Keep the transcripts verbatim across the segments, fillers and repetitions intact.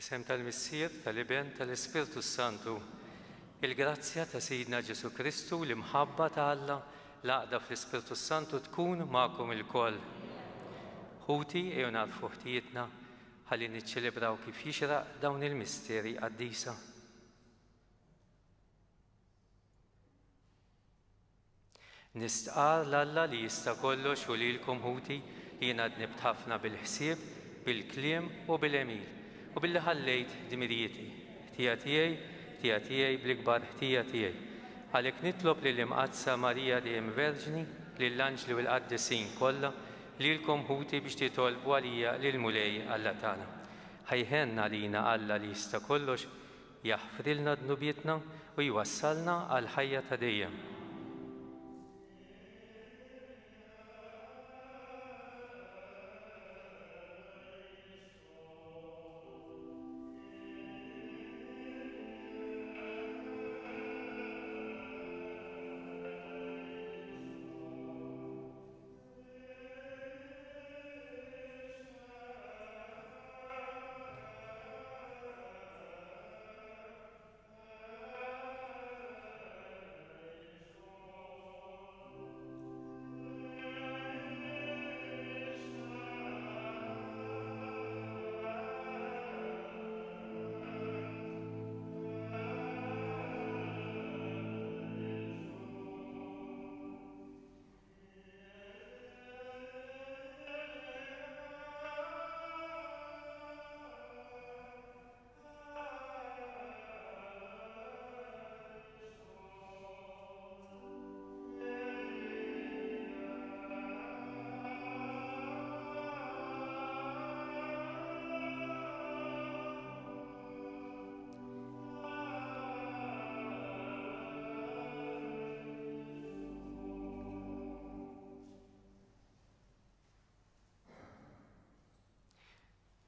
Isem tal-Missier, tal-Iben, tal-Ispirtu Santu. Il-grazzja ta' Sidna Ġesu Kristu, l-imħabba ta' Alla, l-għaqda fl-Ispirtu Santu tkun magħkom ilkoll. Ħuti, ejjew nagħrfu ħtijietna ħalli niċċelebraw kif jixraq dawn il-misteri qaddisa. Nistqar l-Alla li jista' kollox u lilkom ħuti li jiena dnibt ħafna bil-ħsieb, bil-kliem u bil-għemil, u billi ħallejt dmirijieti, ħtija tiegħi, ħtija tiegħi bl-ikbar ħtija tiegħi. Għalhekk nitlob lill-Imqaddsa Marija dejjem Verġni, lill-anġli u l-qaddisin kollha, lilkom ħuti biex titolbu għalija lill-Mulej Alla tagħna. Ħa jħenn għalina Alla li jista' kollox, jaħfrilna dnubietna u jwassalna għal ħajja ta' dejjem.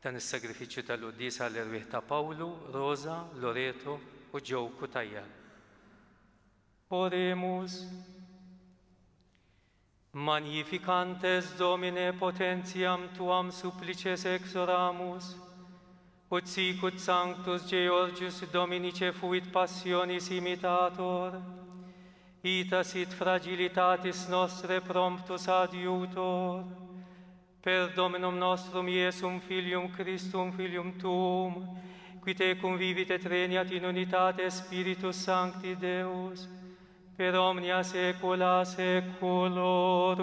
Dan is-sagrifiċċju tal-quddiesa għall-erwieħ ta' Pawlu, Rosa, Loreto u Joe Cutajar. Oremus. Magnificantes Domine potentiam tuam supplices exoramus, ut sicut sanctus Georgius Dominice fuit passionis imitator, ita sit fragilitatis nostre promptus adiutor, per Dominum nostrum Iesum Filium Christum Filium tuum, qui tecum vivit et regnat in unitate Spiritus Sancti Deus, per omnia saecula saeculorum.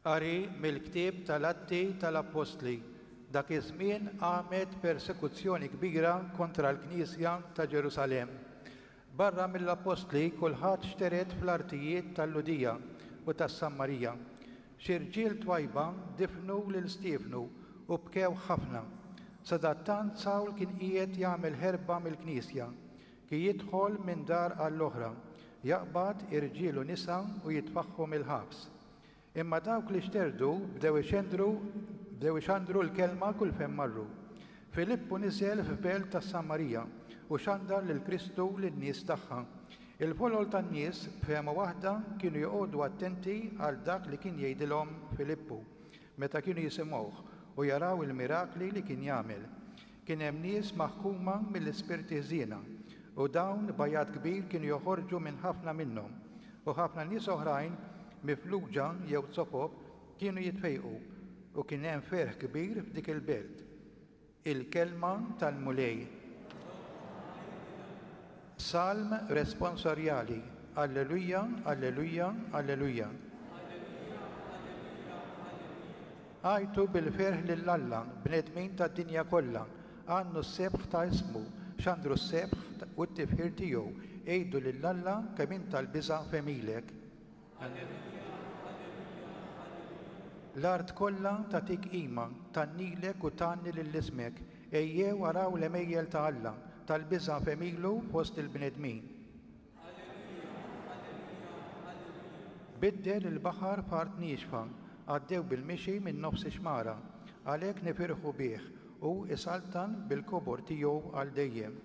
Qari mill-ktieb tal-Atti tal-Appostli. Dak iż-żmien qamet persekuzzjoni kbira kontra l-Knisja ta' Ġerusalemm. Barra mill-Appostli kulħadd xteret fl-artijiet tal-Lhudija u tas-Sammarija. Xi rġiel twajba difnu lil Stiefnu u bkew ħafna. Sadattant Sawl kien qiegħed jagħmel ħerba mill-Knisja, kien jidħol minn dar għall-oħra, jaqbad irġiel u nisa u jitfaħħom il-ħabs. Imma dawk li xterdu bdew ixendru bdew ixandru l-kelma kull fejn marru. Filippu niżel f'belt tas-Samarija u xandar lil Kristu lin-nies tagħha. Il-folol tan-nies b'fehma waħda kienu joqogħdu attenti għal dak li kien jgħidilhom Filippu meta kienu jisimgħuh u jaraw il-mirakli li kien jagħmel. Kien hemm nies maħkuma mill-ispirti ħżiena u dawn b'għajat kbir kienu joħorġu minn ħafna minnhom, u ħafna nies oħrajn mifluġa jew zopop kienu jitfejqu, u kien hemm ferħ kbir f'dik il-belt. Il-kelma tal-Mulej. Salm responsorjali. Alleluja, alleluja, alleluja. Għajtu bil-ferħ lil Alla, bnedmin tad-dinja kollha, għannu s-sebħ ta' ismu, xandru s-sebħ u t-tifħir tiegħu, għidu lil Alla kemm int tal-biża' f'għemilek. L-art kollha tagħtik qima, tgħannilek u tgħanni lil ismek. Ejjew araw l-għemejjel ta' Alla, tal-biża' f'għemilu fost il-bnedmin. Biddel il-baħar f'art niexfa, għaddew bil-mixi minn nofs ix-xmara, għalhekk nifirħu bih u isaltan bil-kobor tiegħu għal dejjem.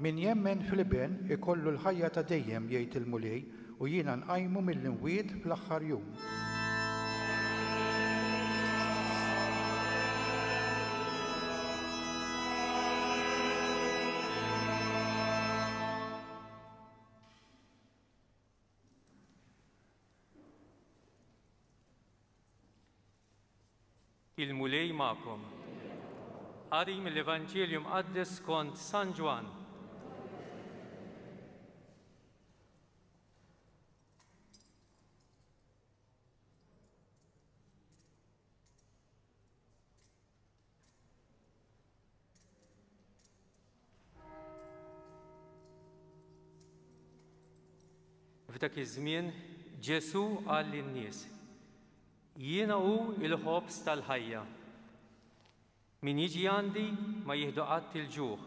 Min jemmen fl-Iben ikollu l-ħajja ta' dejjem, jgħid il-Mulej, u jiena nqajmu mill-imwiet fl-aħħar jum. Il-Mulej magħkom. Qari mill-Evanġelju Mqaddes skont San Ġwann. F'dak iż-żmien Ġesù qal lin-nies: Jiena hu il-ħobż tal-ħajja. Min jiġi għandi ma jieħdu qatt il-ġuħ,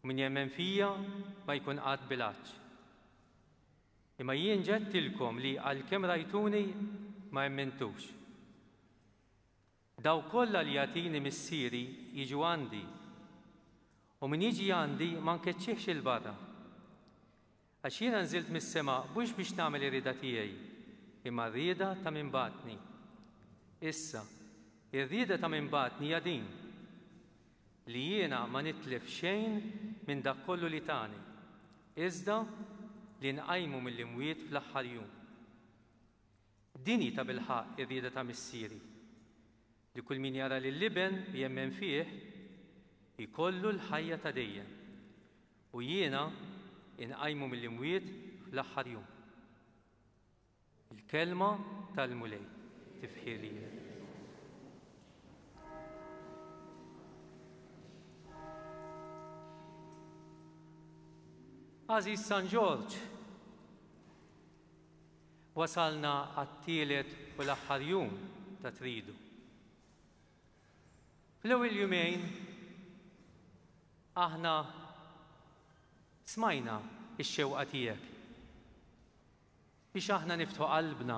u min jemmen fija ma jkun qatt bil-għatx. Imma jien ġedtilkom li għalkemm rajtuni ma emmintux. Dawk kollha li jagħtini missieri jiġu għandi, u min jiġi għandi ma nkeċċihx il barra. Għax jiena nżilt mis-sema mhux biex nagħmel ir-rieda tiegħi, imma r-rieda ta' min bagħatni. Issa, ir-rieda ta' min bagħatni hija din, li jiena ma nitlef xejn minn dak kollu li tani, iżda li nqajmu mill-imwiet fl-aħħar jum. Din hi tabilħaqq ir-rieda ta' missieri, li kull min jara lill-Iben u jemmen fih ikollu l-ħajja ta' dejjem, u jiena inqajmu mill-imwiet fl-aħħar jum. Il-kelma tal-Mulej tifħir lilek. Għażiż San Ġorġ, wasalna għat-tielet u l-aħħar jum ta' Tridu. Fl-ewwel jumejn aħna smajna x-xewqa tiegħek biex aħna niftħu qalbna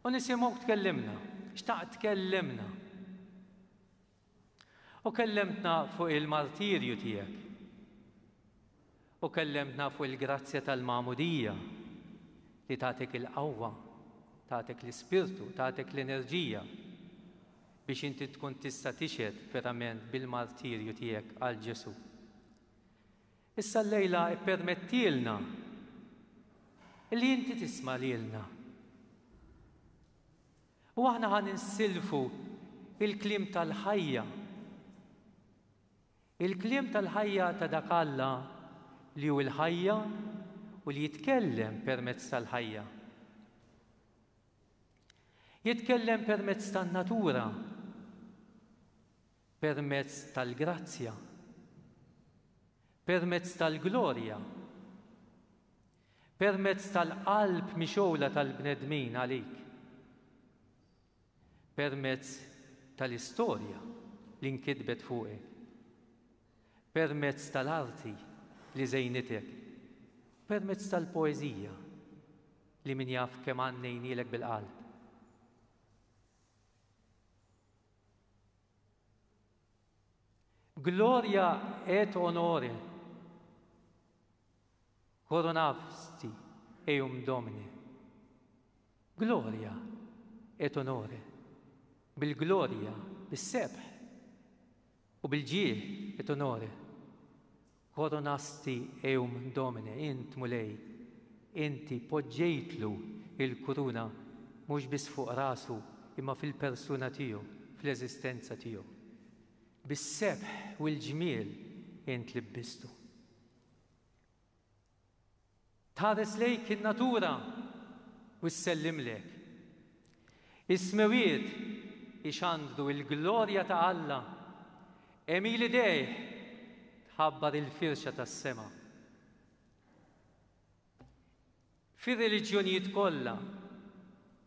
u nisimgħuk tkellimna, xtaqt tkellimna. U kellimtna fuq il-martirju tiegħek. U kellimtna fuq il-grazzja tal-magħmudija li tagħtik il-qawwa, tagħtik l-ispirtu, tagħtik l-enerġija biex inti tkun tista' tixhed verament bil-martirju tiegħek għal Ġesù. Issa llejla ippermettilna li inti tisma' lilna. U aħna ħa ninsilfu il-kliem tal-ħajja. Il-kliem tal-ħajja ta' dak Alla li hu l-ħajja u li jitkellem permezz tal-ħajja. Jitkellem permezz tan-natura, permezz tal-grazzja, permezz tal-glorja, permezz tal-qalb mixgħula tal-bnedmin għalik, permezz tal-istorja li nkitbet fuqek, permezz tal-arti li żejnitek, permezz tal-poeżija li min jaf kemm għannejnielek bil-qalb. Gloria et onore coronavsti eum Domine. Gloria et onore, bil-glorja, bis-sebħ u bil-ġieħ et onore. Coronasti eum Domine, int Mulej, inti poġġejtlu il-kuruna mhux biss fuq rasu imma fil-persuna tiegħu, fl-eżistenza tiegħu. Bis-sebħ u l-ġmiel int libbistu. Tħares lejk in-natura u ssellimlek. Is-smewiet ixandru il-glorja ta' Alla, għemil idejh tħabbar il-firxa tas-sema. Fir-reliġjonijiet kollha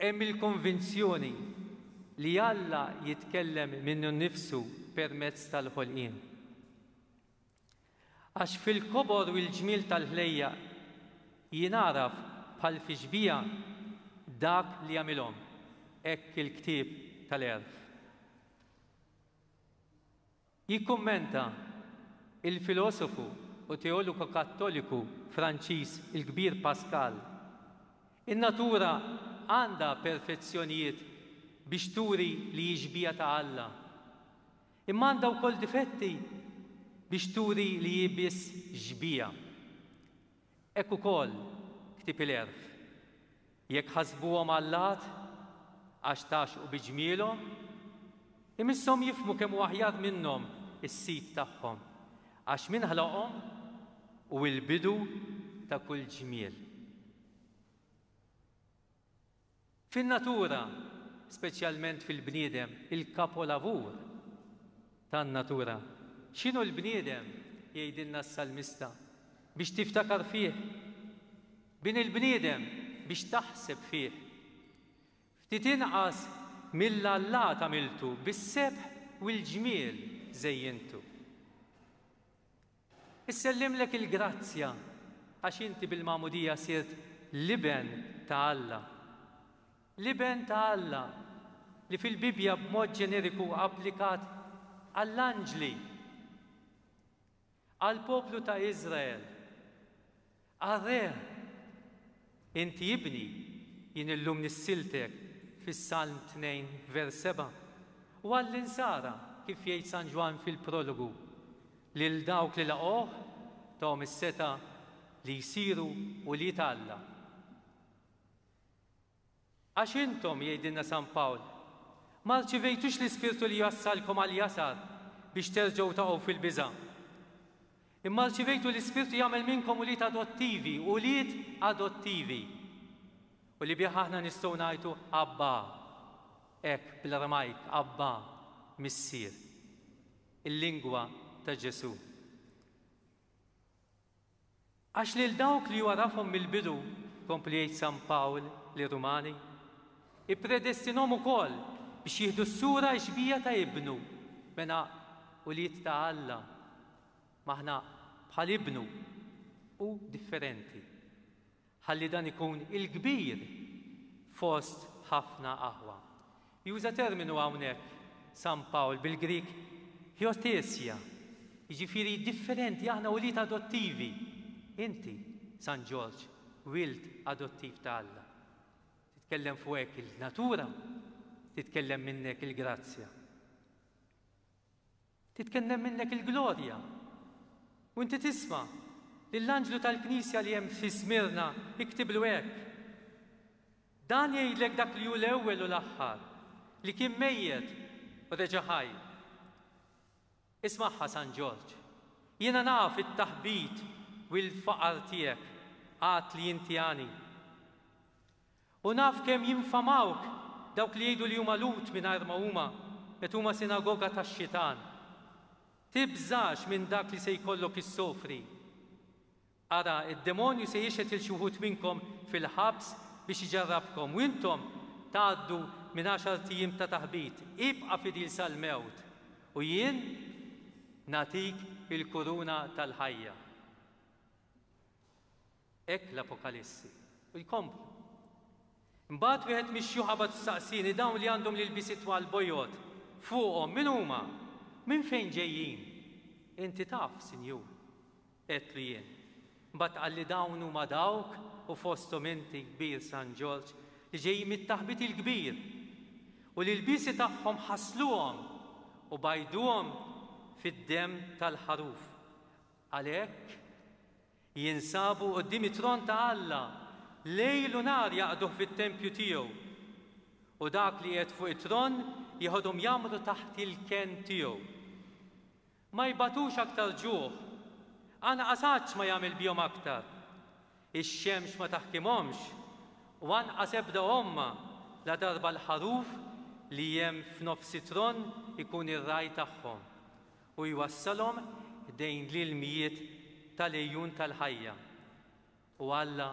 hemm il-konvinzjoni li Alla jitkellem minnu nnifsu permezz tal-ħolqien. Għax fil-kobor u l-ġmiel tal-ħlejjaq jingħaraf bħal fi xbieha dak li jagħmilhom, hekk il-ktieb tal-għerf. Jikkummenta il-filosofu u teologu kattoliku Franċiż il-kbir Pascal, in-natura għandha perfezzjonijiet biex turi li hi xbieha ta' Alla. Imma għandha wkoll difetti biex turi li hi biss xbieha. Hekk ukoll ktieb il-Għerf. Jekk ħasbuhom allat għax tgħaxxqu bi ġmielhom, imisshom jifhmu kemm hu aħjar minnhom is-sid tagħhom, għax min ħlaqhom hu l-bidu ta' kull ġmiel. Fin-natura, speċjalment fil-bniedem, il-kapolavur tan-natura. X'inhu l-bniedem, jgħidilna s-salmista, biex tiftakar fih? Bin il-bniedem biex taħseb fih. Ftit inqas mill-allat għamiltu, bis-sebħ u l-ġmiel żejjintu. Issellimlek il-grazzja għax inti bil-magħmudija sirt l-iben ta' Alla. L-iben ta' Alla li fil-Bibbja b'mod ġeneriku applikat għall-anġli, għall-poplu ta' Izrael, għar-re. Inti ibni, jien illum nissiltek fis-Salm tnejn vers seba', u għall-insara, kif jgħid San Ġwann fil-prologu, lil dawk li laqgħuh tahom is-seta' li jsiru ulied Alla. Għax intom, jgħidilna San Pawl, ma rċivejtux l-Ispirtu li jassalkom għal jasar biex terġgħu taqgħu fil-biża'. Imma rċivejtu l-Ispirtu jagħmel minnkom ulied adottivi, ulied adottivi. U li bih aħna nistgħu ngħidu Abba, hekk bl-Aramajk, Abba, Missier. Il-lingwa ta' Ġesù. Għax lil dawk li għarafhom mill-bidu, kompli jgħid San Pawl lir-Rumani, ippredestinhom ukoll biex jieħdu s-sura xbija ta' ibnu, mela ulied ta' Alla. Maħna bħal ibnu u differenti. Ħalli dan ikun il-kbir fost ħafna aħwa. Juża terminu hawnhekk San Pawl bil-Grik hiotesia, jiġifieri differenti, aħna ulied adottivi. Inti, San Ġorġ, wild adottiv ta' Alla. Titkellem fuqek il-natura, titkellem minnek il-grazzja. Titkellem minnek il-glorja. U inti tisma' lill-anġlu tal-Knisja li hemm fi Smirna iktiblu hekk. Dan jgħidlek dak li hu l-ewwel u l-aħħar, li kien mejjet u reġa' ħaj. Ismagħha San Ġorġ. Jiena naf it-taħbit u l-faqar tiegħek, għad li inti għani. U naf kemm jinfamawk dawk li jgħidu li huma Lut mingħajr ma huma, qed huma sinagoga tax-xitan. Tibżax minn dak li se jkollok issofri. Ara, id-demonju se jixhed il xi wħud minnkom fil-ħabs biex iġarrabkom, u intom tgħaddu minn għaxar ijiem ta' taħbit. Ibqa' fidil sal-mewt, u jien nagħtik il-kuruna tal-ħajja. Hekk l-Apokalissi. U jkomplu. Imbagħad wieħed mix-xjuħ qabad saqsini dawn li għandhom l-ilbiesi twal bojod fuqhom min huma? Minn fejn ġejjin? Inti taf, Sinjur, għedtlu jien. Mbagħad qalli dawn huma dawk u fosthom inti kbir San Ġorġ li ġejjin mit-taħbit il-kbir u li l-ilbiesi tagħhom ħasluhom u bajduhom fid-demm tal-ħaruf. Għalhekk jinsabu quddiem it-tron ta' Alla lejl u nhar jaqduh fit-tempju tiegħu. U dak li qiegħed fuq it-tron jieħodhom jagħmlu taħt il-kenn tiegħu. Ma jbatux aktar ġuħ, anqas għatx ma jagħmel bihom aktar. Ix-xemx ma taħkimhomx, u anqas ebda omma la darba l-ħaruf li hemm f'nofs it-tron ikun ir-raj tagħhom u jwassalhom dejn l-ilmijiet tal-ejjun tal-ħajja. U Alla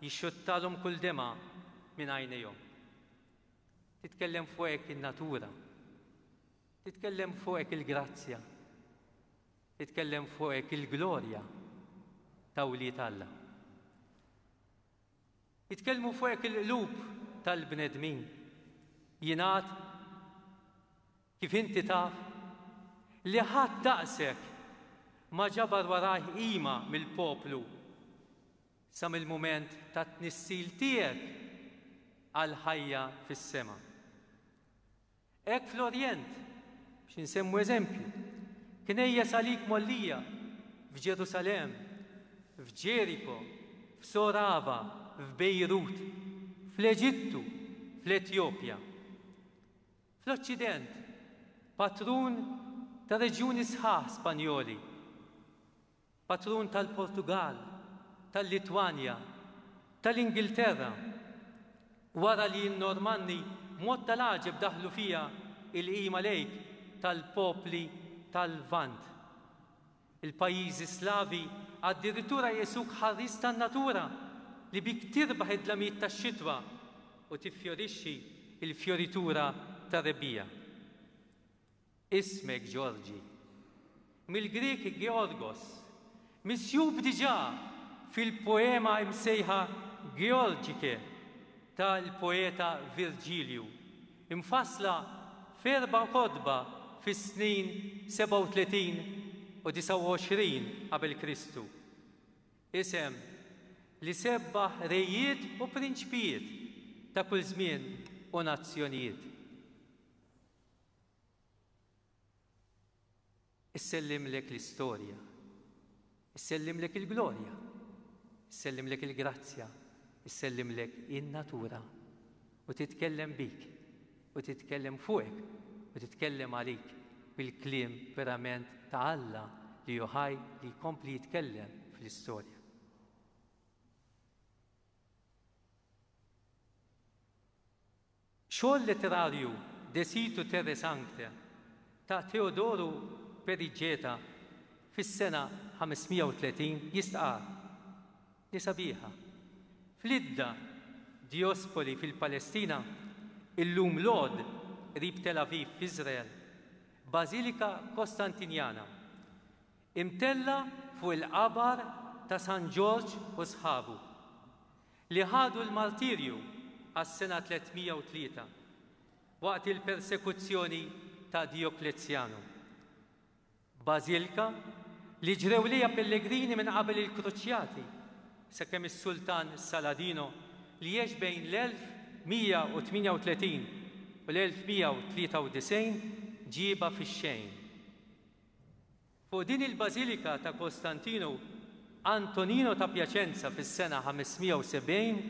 jixxuttalhom kull dema minn għajnejhom. Titkellem fuqek in-natura, titkellem fuqek il-grazzja, titkellem fuqek il-glorja ta' wlied Alla. Jitkellmu fuqek il-qlub tal-bnedmin. Jingħad kif inti taf li ħadd daqsek ma ġabar warajh qima mill-poplu sa mill-mument tat-tnissil tiegħek għall-ħajja fis-sema. Hekk fl-Orjent, biex insemmu eżempju, knejjes għalik mgħollija f'Ġerusalemm, f'Ġeriko, f'Sorava, f'Bejrut, fl-Eġittu, fl-Etjopja. Fl-Oċċident, patrun ta' reġjuni sħaħ Spanjoli, patrun tal-Portugal, tal-Litwanja, tal-Ingilterra, wara li n-Normanni b'mod tal-għaġeb daħlu fiha il-qima lejk tal-popli tal-Lvant. Il-pajjiżi Slavi addirittura jqisuk ħarris tan-natura li bik tirbaħ id-dlamijiet tax-xitwa u tiffjorixxi il-fjoritura tar-rebbiegħa. Ismek Ġorġi, mill-Grieg Georgos, misjub diġà fil-poema imsejħa Georgike tal-poeta Virgilju, imfassla f'erba' kotba fis-snin sebgħa u tletin u disgħa u għoxrin qabel Kristu. Isem li sebbaħ rejiet u prinċpijiet ta' kull żmien u nazzjonijiet. Issellimlek l-istorja, issellimlek il-glorja, issellimlek il-grazzja, issellimlek in-natura u titkellem bik, u titkellem fuqek, u titkellem għalik bil-kliem verament ta' Alla li hu ħaj li jkompli jitkellem fl-istorja. Xogħol letterarju De Situ Terre Sancte ta' Teodoru Perigeta fis-sena ħamesmija u tletin jistqar li sabiħa. Fl-Idda Diospoli fil-Palestina, illum Lod qrib Tel Aviv f'Iżrael, Bażilika Kostantinjana, imtella fuq il-qabar ta' San Ġorġ u sħabu, li ħadu l-martirju għas-sena tlietmija u tlieta waqt il-persekuzzjoni ta' Dioklezjanu. Bażilika li ġrew lejha pellegrini minn qabel il-Kruċjati, sakemm is-Sultan Saladino li għex bejn l-elf mija u tmienja u tletin u l-elf mija u tlieta u disgħin ġiebha fix-xejn. Fuq din il-Bażilika ta' Kostantinu, Antonino ta' Piacenza fis-sena ħamesmija u sebgħin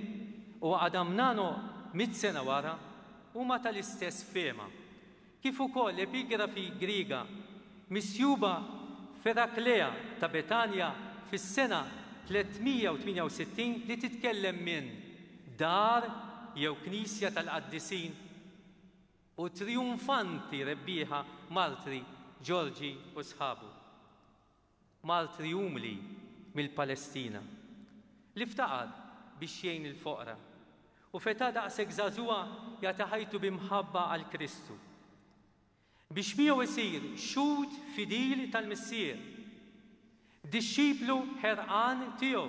u Adamnano mitt sena wara huma tal-istess fehma, kif ukoll epigrafi Griega misjuba f'Eraklea ta' Betanja fis-sena tlietmija u tmienja u sittin li titkellem minn dar jew knisja tal-qaddisin u trionfanti rebbieħa martri Ġorġi u sħabu. Martri umli mill-Palestina li ftaqar biex jgħin il-foqra u feta daqshekk żagħżugħa jagħti ħajtu b'imħabba għal Kristu biex miegħu isir xhud fidil tal-Missier, dixxiplu ħerqan tiegħu,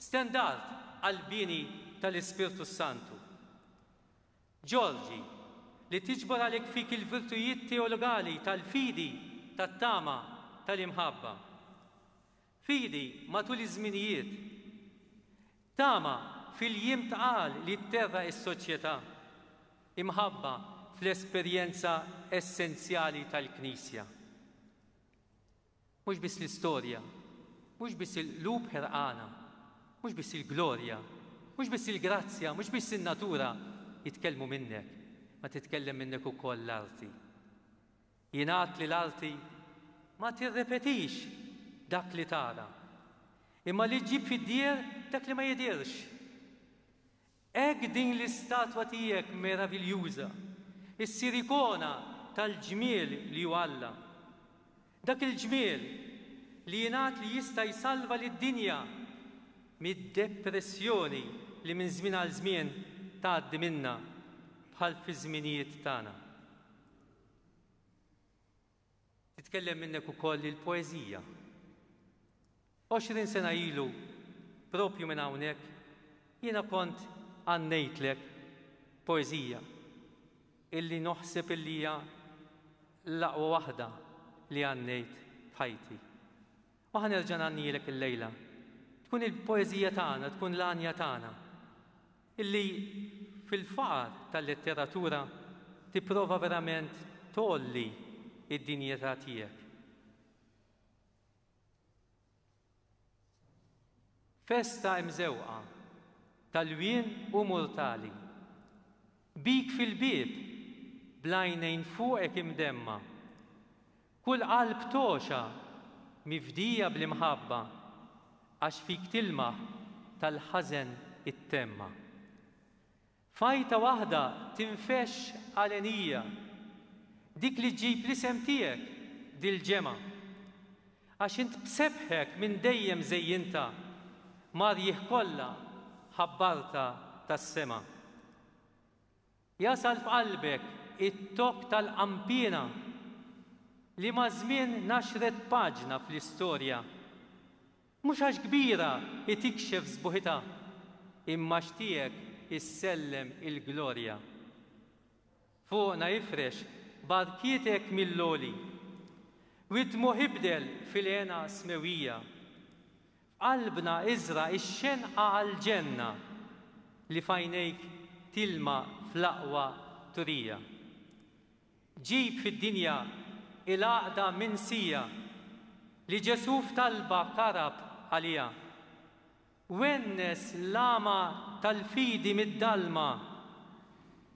stendard għall-bini tal-Ispirtu Santu. Ġorġi, li tiġbor għalhekk fik il-virtujiet teologali tal-fidi, tat-tama, tal-imħabba. Fidi matul iż-żminijiet, tama fil-jiem tqal li tterra s-soċjetà, imħabba fl-esperjenza essenzjali tal-Knisja. Mhux biss l-istorja, mhux biss il-qlub ħerqana, mhux biss il-glorja, mhux biss il-grazzja, mhux biss in-natura jitkellmu minnek, ma titkellem minnek ukoll l-arti. Jingħad li l-arti ma tirrepetix dak li tara, imma li ġġib fid-dieher dak li ma jidhirx. Hekk din l-istatwa tiegħek meraviljuża, issir ikona tal-ġmiel li hu Alla. Dak il-ġmiel li jingħad li jista' jsalva lid-dinja mid-depressjoni li minn żmien għal żmien tgħaddi minna bħal fi żminijiet tagħna. Titkellem minnek ukoll il-poeżija. Għoxrin sena ilu, propju minn hawnhekk, jiena kont għannejtlek poeżija illi noħseb illi hija l-aqwa waħda li għannejt f'ħajti. U ħa nerġa' ngħannilek illejla. Tkun il-poeżija tagħna, tkun l-għanja tagħna, illi fil-faqar tal-letteratura tipprova verament tgħolli id-dinjità tiegħek. Festa imżewqa tal-wien u mortali, bik fil-bieb blajnejn fuqek imdemma, kull qalb toxa mifdija bl-imħabba, għax fik tilmaħ tal-ħażen it-temma. Fajta waħda tinfex għalenija, dik li ġġib l-isem tiegħek dil-ġemgħa, għax int b'sebħek minn dejjem żejjinta, marjih kollha ħabbarta tas-sema. Jasal f'qalbek it-tok tal-qampina li ma' żmien naxret paġna fl-istorja, mhux għax kbira itikxef sbuħitha, imma xtiegħek issellem il-glorja. Fuqna ifrex barkietek mill-loli, widmu ħibdel fil-hena smewija. F'qalbna iżra ix-xenqa għall-ġenna li f'għajnejk tilma fl-aqwa turija. Ġib fid-dinja il-għaqda minsija li Ġesù f'talba karab għalija. Wennes l-għama tal-fidi mid-dalma,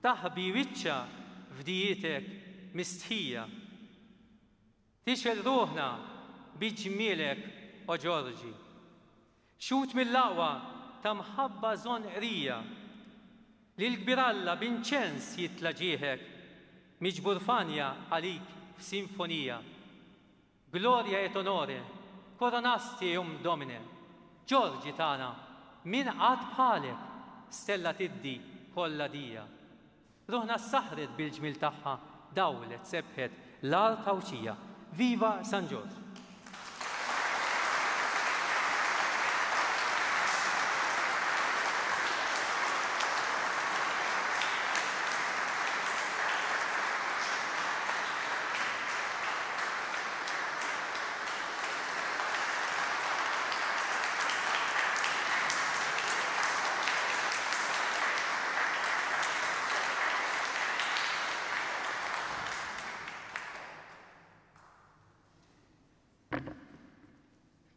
taħbi wiċċa f'dijietek mistħija. Tixel ruħna bi ġmielek, o Ġorġi, xut mill-aqwa ta' mħabba żonqrija, li l-kbir Alla b'inċens jitla' ġieħek, miġbur fanja għalik f'sinfonija. Gloria et onore, coronasti eum Domine, Ġorġi tagħna, min qatt bħalek, stella tiddi kollha dija. Ruħna saħret bil-ġmil tagħha, dawlet sebħet l-art Għawdxija. Viva San Ġorġ!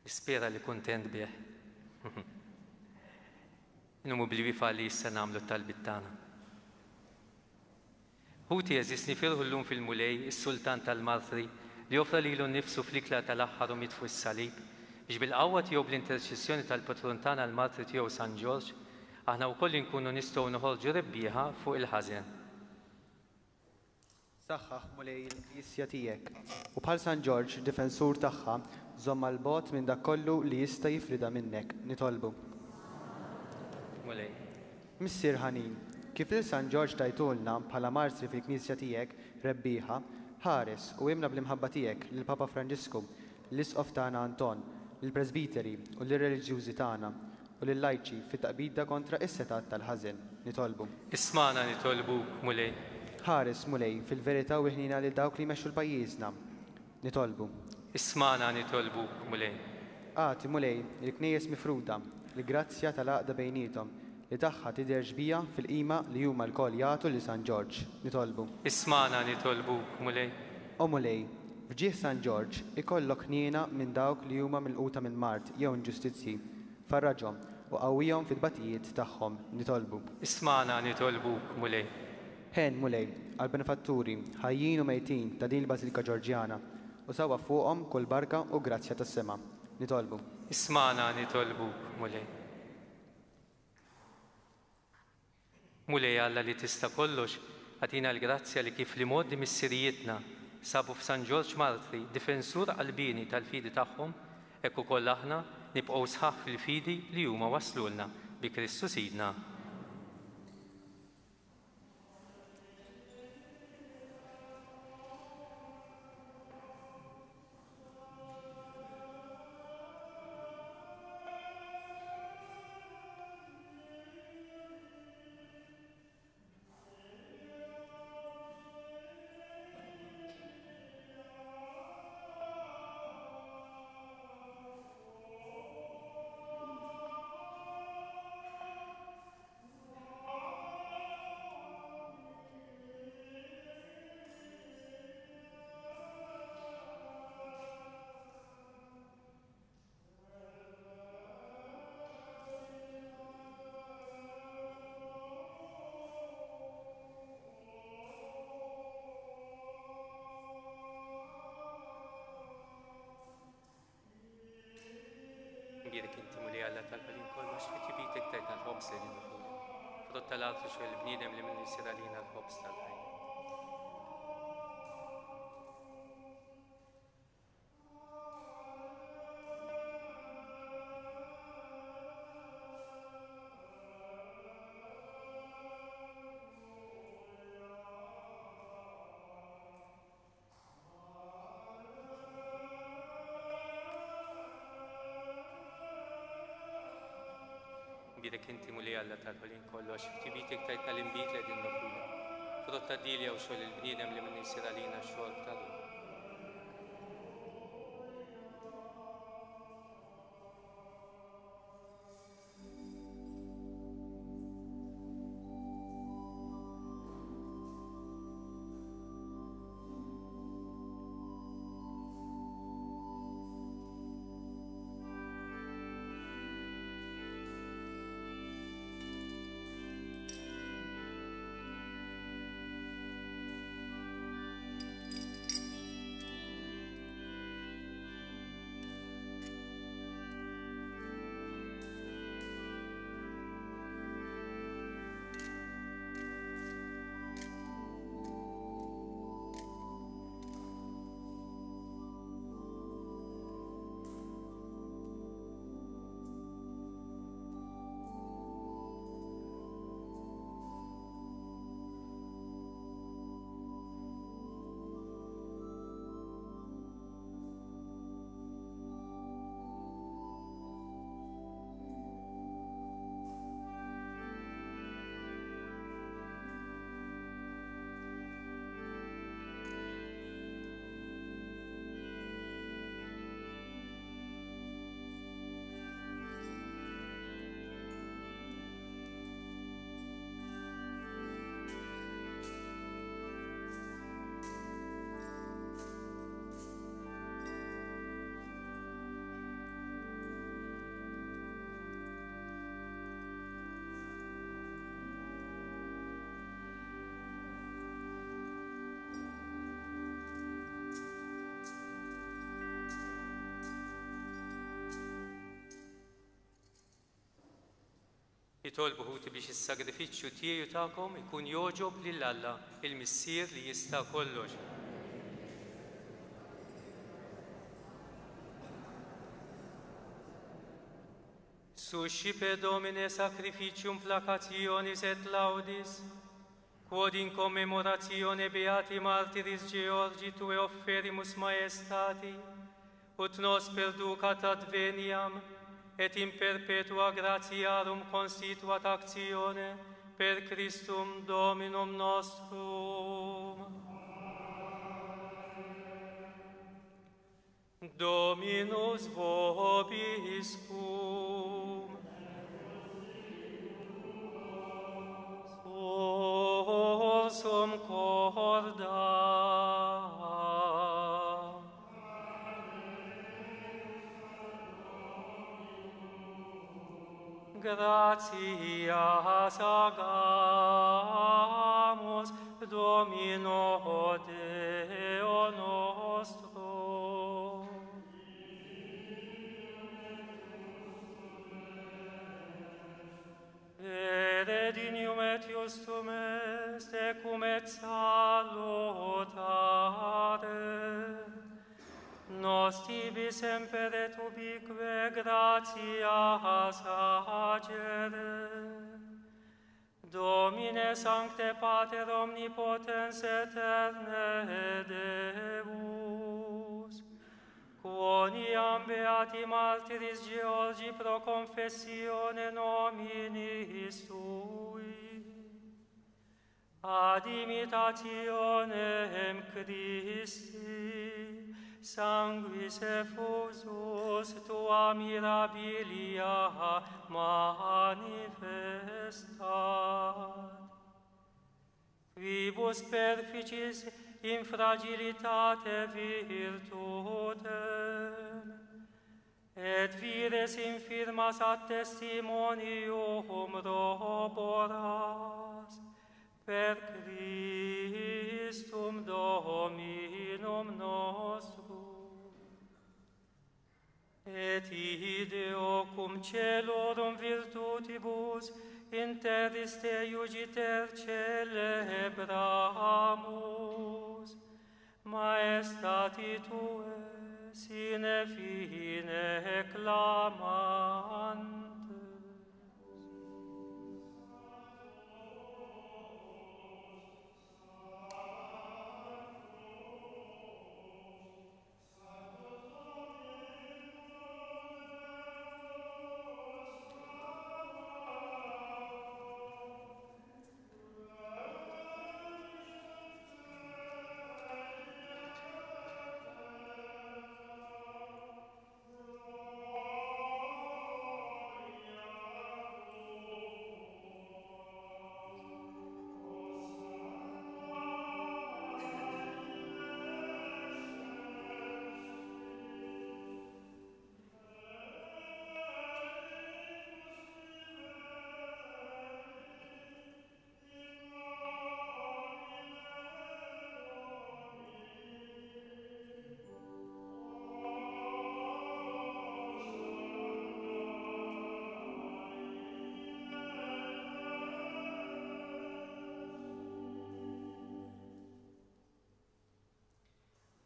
Nispera li kuntent bih. Numu bil-wifa li issa nagħmlu t-talbit tagħna. Ħuti għeżież, nifirħu llum fil-Mulej, is-Sultan tal-Martri, li offra lilu nnifsu fl-ikla tal-aħħar u miet fuq is-salib, biex bil-qawwa tiegħu bl-interċessjoni tal-patrun tagħna l-Martri tiegħu San Ġorġ, aħna wkoll inkunu nistgħu noħorġu rebbieħa fuq il-ħażen. Saħħaħ Mulej il-Knisja tiegħek, u bħal San Ġorġ, difensur tagħha, żomm għal bogħod minn dak kollu li jista' jifrida minnek. Nitolbu. Mulej. Missier ħanin, kif lil San Ġorġ tajtulna bħala martri fil-Knisja tiegħek rebbieħa, ħares u imla bl-imħabba tiegħek lil Papa Franġisku, l-Isqof tagħna Anton, lill-Presbiteri u lir-reliġjużi tagħna, u lil-lajċi fit-taqbida kontra is-setat tal-ħażen. Nitolbu. Ismana nitolbuk, Mulej. Ħares, Mulej, fil-verità u ħnina lil dawk li jmexxu l-pajjiżna. Nitolbu. Ismana nitolbuk, Mulej. Agħti, Mulej, il-knejjes mifruda, l-grazzja tal-għaqda bejniethom, li tagħha tidher xbija fil-qima li huma lkoll jagħtu lil San Ġorġ. Nitolbu. Ismana nitolbuk, Mulej. O Mulej, f'ġieħ San Ġorġ ikollok ħniena minn dawk li huma milquta minn mard jew inġustizzji. Farraġhom u qawwihom fit-tbatijiet tagħhom. Nitolbu. Ismana nitolbuk, Mulej. Ħen, Mulej, għall-benefatturi ħajjin u mejtin ta' din il-Bażilika Ġorġjana, u sawwa fuqhom kull barka u grazzja tas-sema. Nitolbu. Ismana nitolbuk, Mulej. Mulej Alla li tista' kollox, agħtina l-grazzja li kif li modi missirijietna sabu f'San Ġorġ Martri, difensur qalbini tal-fidi tagħhom, hekk ukoll aħna nibqgħu sħaħ fil-fidi li huma waslulna bi Kristu Sidna. għax fi tibitek tajtna l-ħobż li nifulek. Frott tal-art u xogħol il-bniedem li minnu jsir għalina l-ħobż tal-ħajja. Bidek inti Mulej Alla tal-ħolin kollu, għax f'tibitek tajtna l-inbid li qegħdin nofrulek. Frott tad-dilja u xogħol il-bniedem li minnu jsir għalina x-xogħol tal-ħolin. Jitolbu ħuti biex is-sagrifiċċju tiegħi tagħkom ikun jogħġob lil Alla, il-Missier li jista' kollox. Suscipe Domine sacrificium placationis et laudis, quod in commemoratione beati martyris Georgi tue offerimus maestati, ut nos perducat adveniam, et in perpetua gratiarum constituat actione per Christum Dominum nostrum. Dominus vobiscum. Sursum corda. Gratias agamus Domino Deo nostro. Vere dignum et justum est ecum et salutare. Nos tibi semper et ubique gratias agere. Domine Sancte Pater omnipotens aeterne Deus, quoniam beati martyris Georgi pro confessione nominis tui, ad imitationem Christi, sanguis effusus tua mirabilia manifestat. Quibus perficis in fragilitate virtutem, et vires infirmas ad testimonium roboras, per Christum Dominum nostrum. Et ihi Deo cum celorum virtutibus in terris te iugiter celebramus. Maestati tue sine fine clamantes.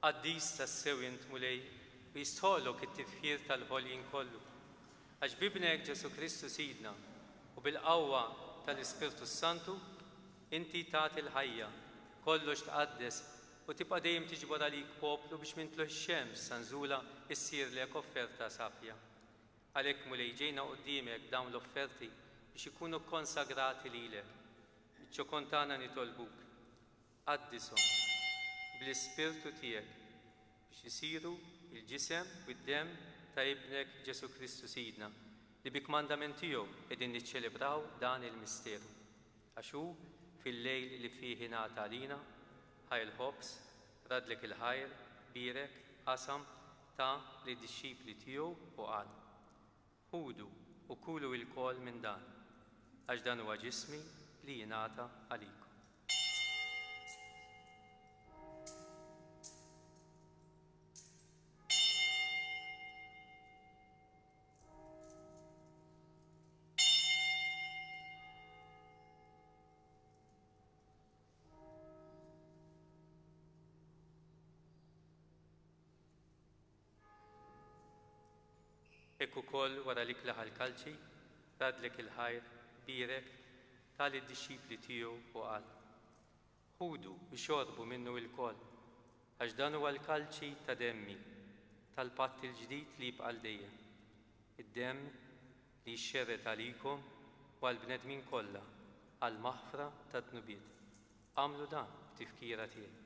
Qaddis tassew int Mulej u jistħollok it-tifħir tal-ħolqien kollu. Għax bibnek Ġesu Kristu Sidna u bil-qawwa tal-Ispirtu Santu inti tagħti l-ħajja, kollox tqaddes u tibqa' dejjem tiġbor għalik poplu biex minn tlugħ ix-xemx sa nżula issirlek offerta safja. Għalhekk Mulej ġejna quddiemek dawn l-offerti biex ikunu konsagrati lilek. Biċ-ċokon tagħna nitolbuk, qaddishom bl-Ispirtu tiegħek biex isiru il-ġisem u d-demm ta' ibnek Ġesu Kristu Sidna li bi kmandament tiegħu qegħdin niċċelebraw dan il-misteru. Għax hu fil-lejl li fih ingħata għalina, ħa l-ħobż, radlek il-ħajr, bierek, qasam, ta lid-dixxipli tiegħu u qal: Ħudu u kulu lkoll minn dan, għax dan huwa ġismi li jingħata għalikom. Hekk ukoll wara li klaħ l-kalċi, radlek il-ħajr, bierek, ta lid-dixxipli tiegħu u qal: Ħudu u xorbu minnu lkoll, għax dan huwa l-kalċi ta' demmi, tal-patt il-ġdid li jibqa' għal dejjem. Id-demm li jxerred għalikom u għall-bnedmin kollha għall-maħfra tad-dnubiet. Agħmlu dan b'tifkira tiegħi.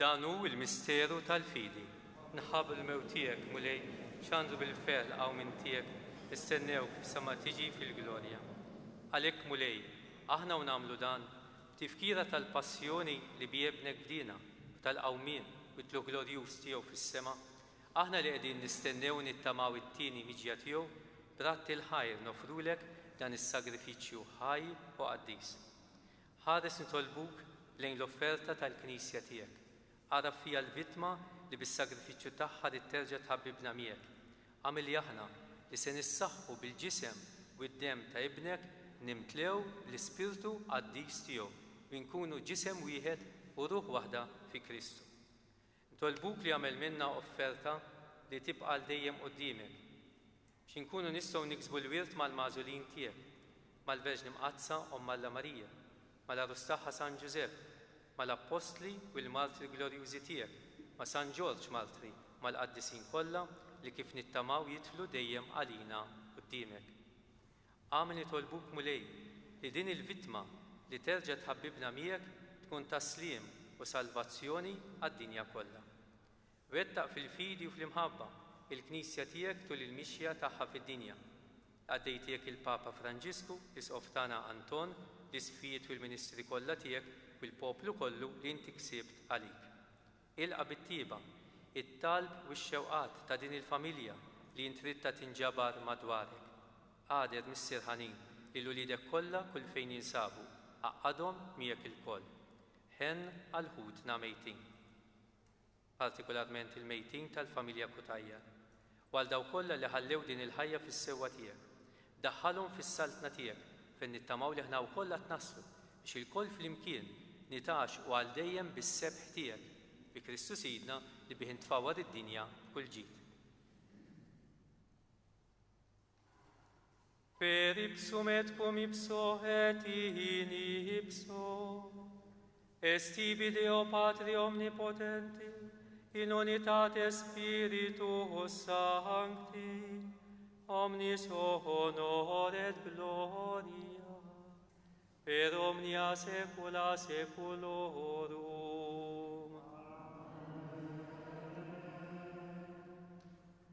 Dan hu l-misteru tal-fidi. Nħabb il-mewt tiegħek, Mulej, xandu bil-ferħ l-qawmien tiegħek, nistennewk sa ma tiġi fil-glorja. Għalhekk, Mulej, aħna u nagħmlu dan b'tifkira tal-passjoni li bi ibnek fdina u tal-qawmien u t-tlugħ glorjuż tiegħu fis-sema, aħna li qegħdin nistennew nittamaw it-tieni miġja tiegħu, b'ratt il-ħajr nofrulek dan is-sagrifiċċju ħaj u qaddis. Ħares nitolbuk lejn l-offerta tal-Knisja tiegħek. Għaraf fija l-vittma li bis-sagrifiċċju tagħha li terġa' tħabbibna miegħek. Agħmel li aħna li se nissaħħu bil-ġisem u d-demm ta' ibnek nimtlew bl-Ispirtu qaddis tiegħu u nkunu ġisem wieħed u ruħ waħda fi Kristu. Nitolbuk li għamel minna offerta li tibqa' għal dejjem quddiemek biex inkunu nistgħu niksbu l-wirt mal-magħżulin tiegħek, mal-Verġni Mqaddsa Omm Alla Marija, mal-għarus tagħha San Ġużepp, mal-Appostli u l-Martri glorjużi tiegħek, ma' San Ġorġ Martri, mal-qaddisin kollha li kif nittamaw jidħlu dejjem għalina quddiemek. Agħmel nitolbuk Mulej li din il-vittma li terġa' tħabbibna miegħek tkun ta' sliem u salvazzjoni għad-dinja kollha. Wettaq fil-fidi u fl-imħabba il-Knisja tiegħek tul il-mixja tagħha fid-dinja. Għaddej tiegħek il-Papa Franġisku, l-Isqof tagħna Anton, l-Isqfijiet u l-Ministri kollha tiegħek u l-poplu kollu li inti ksibt għalik. Ilqa' bit-tjieba it-talb u x-xewqat ta' din il-familja li int ridtha tinġabar madwarek. Għader Missier ħanin lil uliedek kollha kull fejn jinsabu, għaqqadhom miegħek ilkoll. Ħenn għal ħutna mejtin, partikolarment il-mejtin tal-familja Cutajar, u għal dawk kollha li ħallew din il-ħajja fis-sewwa tiegħek. Daħħalhom fis-saltna tiegħek fejn nittamaw li aħna wkoll qed naslu biex ilkoll flimkien nitgħaxqu għal dejjem bis-sebħ tiegħek bi Kristu Sidna li bih intfawwar id-dinja b'kull ġid. Per ipsum et cum ipso et in ipso, est ibi Deo Patri omnipotenti, in unitate Spiritus Sancti, omnis honor et gloria, per omnia saecula saeculorum.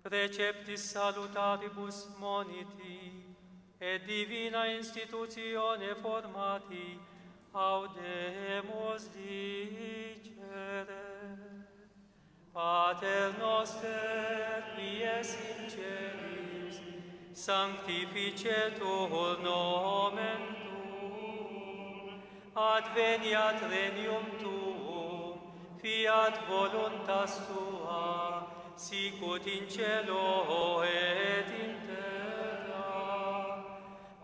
Preceptis salutaribus moniti, et divina institutione formati, audemus dicere. Pater noster, qui es in celis, sanctificetur nomen tuum, adveniat regnum tuum, fiat voluntas tua, sicut in cielo et in terra.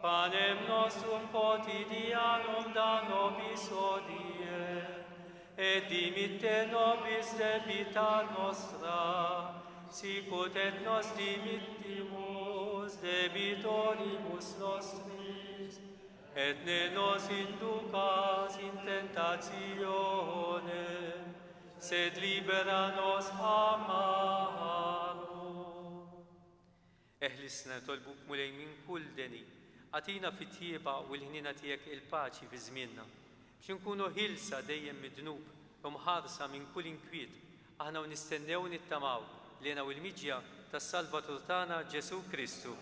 Panem nostrum quotidianum da nobis hodie, et dimitte nobis debita nostra, sicut et nos dimittimus debitoribus nostris, et ne nos inducas in tentationem, sed libera nos a malo. Eħlisna nitolbuk Mulej minn kull deni, agħtina fit-tjieba u l-ħniena tiegħek il-paċi fi żmienna, biex inkunu ħilsa dejjem mid-dnub u mħarsa minn kull inkwiet, aħna u nistennew nittamaw li u l-miġja tas-Salvatur tagħna Ġesù Kristu.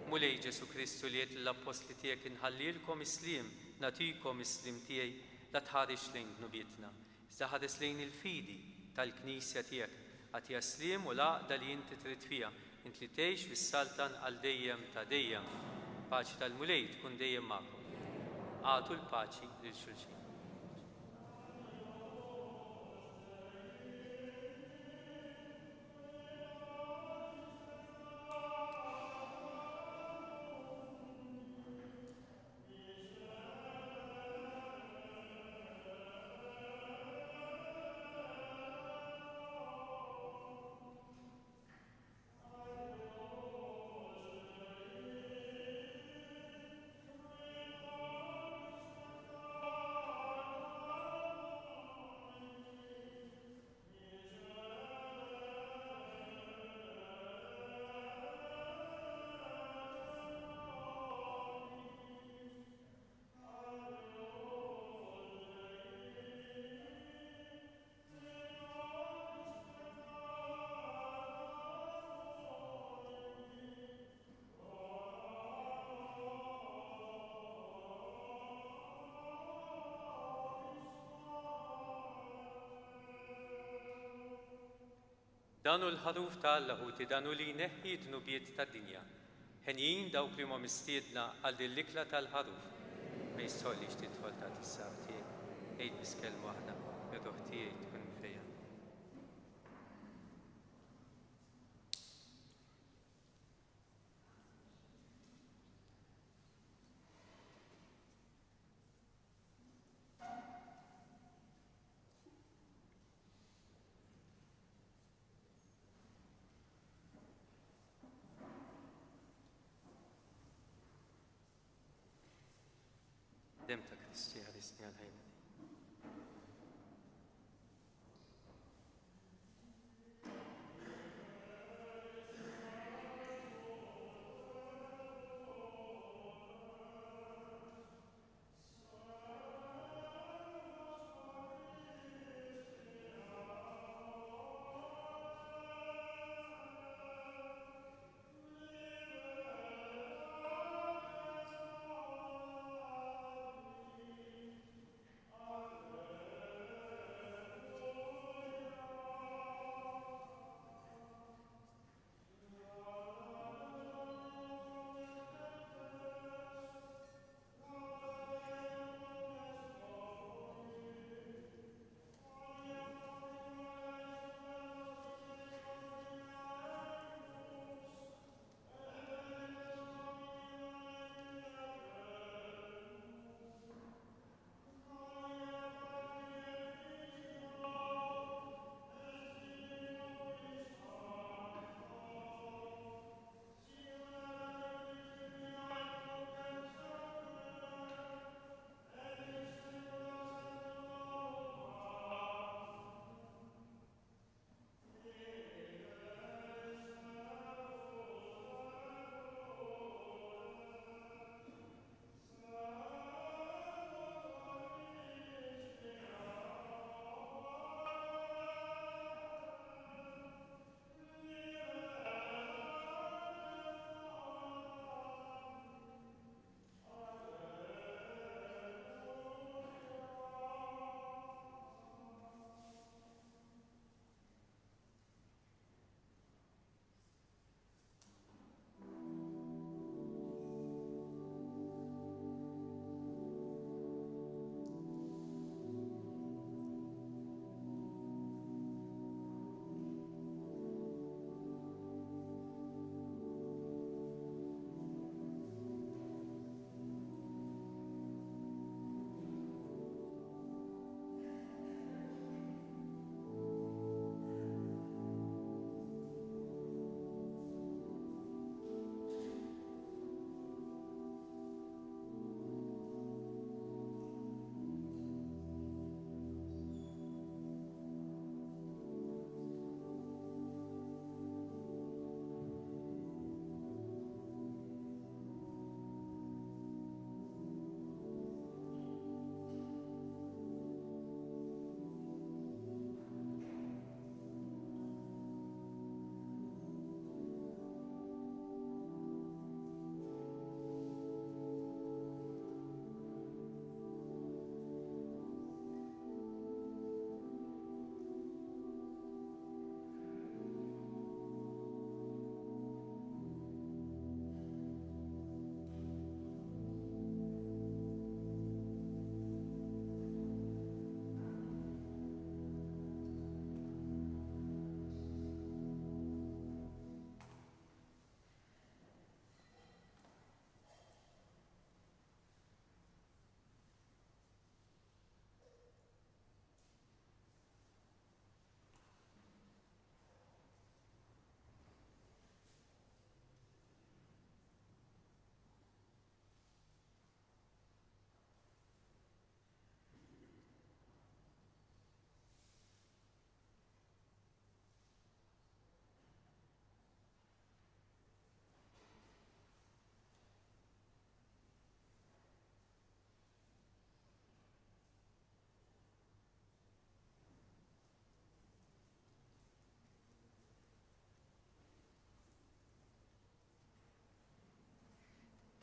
Mulej Ġesù Kristu li għedt lill-appostli tiegħek inħallilkom is-sliem, nagħtikom is-sliem tiegħi, la tħares lejn dnubietna, iżda ħares lejn il-fidi tal-Knisja tiegħek, agħtiha s-sliem u l-għaqda li inti trid fiha, int li tgħix fis-saltan għal dejjem ta' dejjem. Paċi tal-Mulej tkun dejjem magħkom. Agħtu l-paċi lil xulxin. Dan hu l-ħaruf ta' Alla ħuti, dan hu li jneħħi d-dnubiet tad-dinja. Henjin dawk li huma mistiedna għal din l-ikla tal-ħaruf. Ma jistħollix tidħol ta' is-saf tiegħi. Għid biss kelma waħda, ir-ruħ tiegħi tkun mfejja. Dem ta' Kristu jħarisni għal ħajja.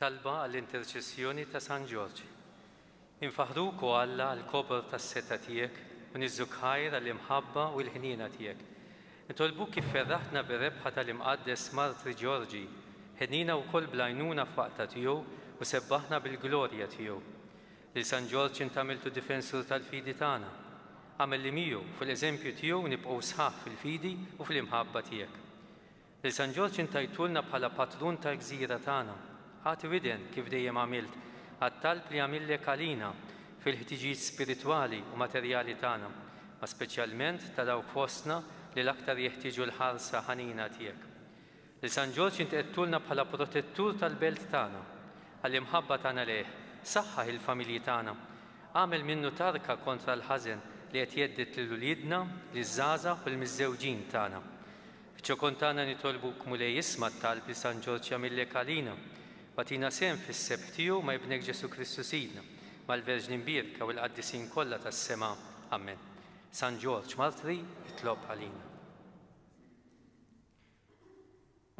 Talba għall-interċessjoni ta' San Ġorġ. Infaħruk o Alla għall-kobor tas-setgħa tiegħek u niżżuk ħajr għall-imħabba u l-ħniena tiegħek. Nitolbuk kif ferraħtna bir-rebħa tal-imqaddes Martri Ġorġi, ħenina wkoll bl-għajnuna f'waqta tiegħu u sebbaħna bil-glorja tiegħu. Lil San Ġorġ int għamiltu difensur tal-fidi tagħna. Għamel li miegħu fuq l-eżempju tiegħu nibqgħu sħaħ fil-fidi u fl-imħabba tiegħek. Lil San Ġorġ intajtulna bħala patrun tal-gżira tagħna. Agħti widen kif dejjem għamilt għat-talb li għamillek għalina fil-ħtiġijiet spiritwali u materjali tagħna, ma speċjalment ta' dawk fostna li l-aktar jeħtieġu l-ħarsa ħanina tiegħek. Lil San Ġorġ int qedtulna bħala protettur tal-belt tagħna, għall-imħabba tagħna lejh, saħħaħ il-familji tagħna, għamel minnu tarka kontra l-ħażen li qed jgħedded lil uliedna, liż-żgħażagħ u l-miżżewġin tagħna. Fiċ-ċokon tagħna nitolbuk Mulej isma' t-talb li San Ġorġ jagħmillek għalina. Bagħtina sehem fis-sebħ tiegħu ma' ibnek Ġesù Kristu Sidna, mal-Verġni Mbierka u l-qaddisin kollha tas-sema. Amen. San Ġorġ Martri, itlob għalina.